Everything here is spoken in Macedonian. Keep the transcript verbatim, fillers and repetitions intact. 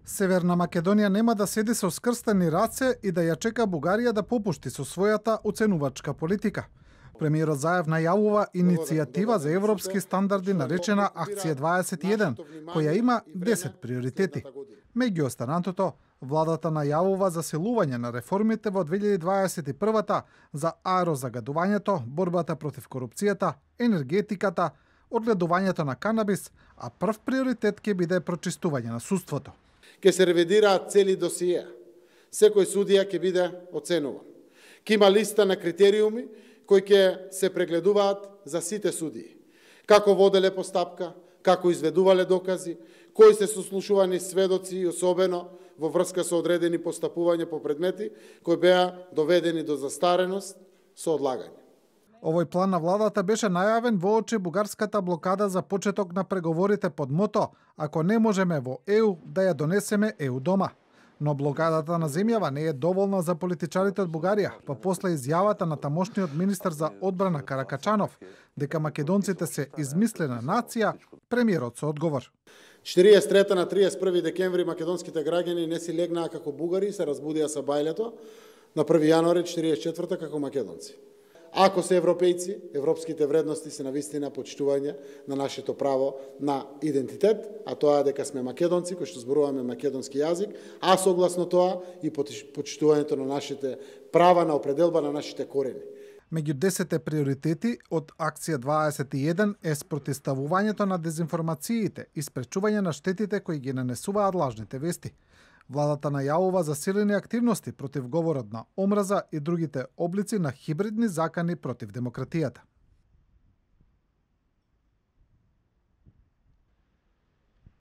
Северна Македонија нема да седи со скрстени раце и да ја чека Бугарија да попушти со својата оценувачка политика. Премиерот Заев најавува иницијатива за европски стандарди наречена Акција дваесет и еден, која има десет приоритети. Меѓу останатото, владата најавува засилување на реформите во две илјади дваесет и прва за аерозагадувањето, борбата против корупцијата, енергетиката, одгледувањето на канабис, а прв приоритет ќе биде прочистување на судството. Ке се ревидираат цели досиеа. Секој судија ќе биде оценуван. Ке има листа на критериуми кои ќе се прегледуваат за сите судии. Како воделе постапка, како изведувале докази, кои се сослушувани сведоци и особено во врска со одредени постапувања по предмети кои беа доведени до застареност со одлагање. Овој план на владата беше најавен воочи бугарската блокада за почеток на преговорите под мото "Ако не можеме во Е У, да ја донесеме Е У дома". Но блокадата на земјава не е доволна за политичарите од Бугарија, па после изјавата на тамошниот министер за одбрана Каракачанов дека македонците се измислена нација, премиерот со одговор. четириесет и трета на триесет и први декември македонските граѓани не си легнаа како бугари и се разбудија со бајлето на први јануари четириесет и четврта како македонци. Ако се европејци, европските вредности се навистина почитување на нашето право на идентитет, а тоа е дека сме македонци кои што зборуваме македонски јазик, а согласно тоа и почитувањето на нашите права на определба на нашите корени. Меѓу десетте приоритети од Акција дваесет и еден е спротивставувањето на дезинформациите и спречување на штетите кои ги нанесуваат лажните вести. Владата најавува засилени активности против говорот на омраза и другите облици на хибридни закани против демократијата.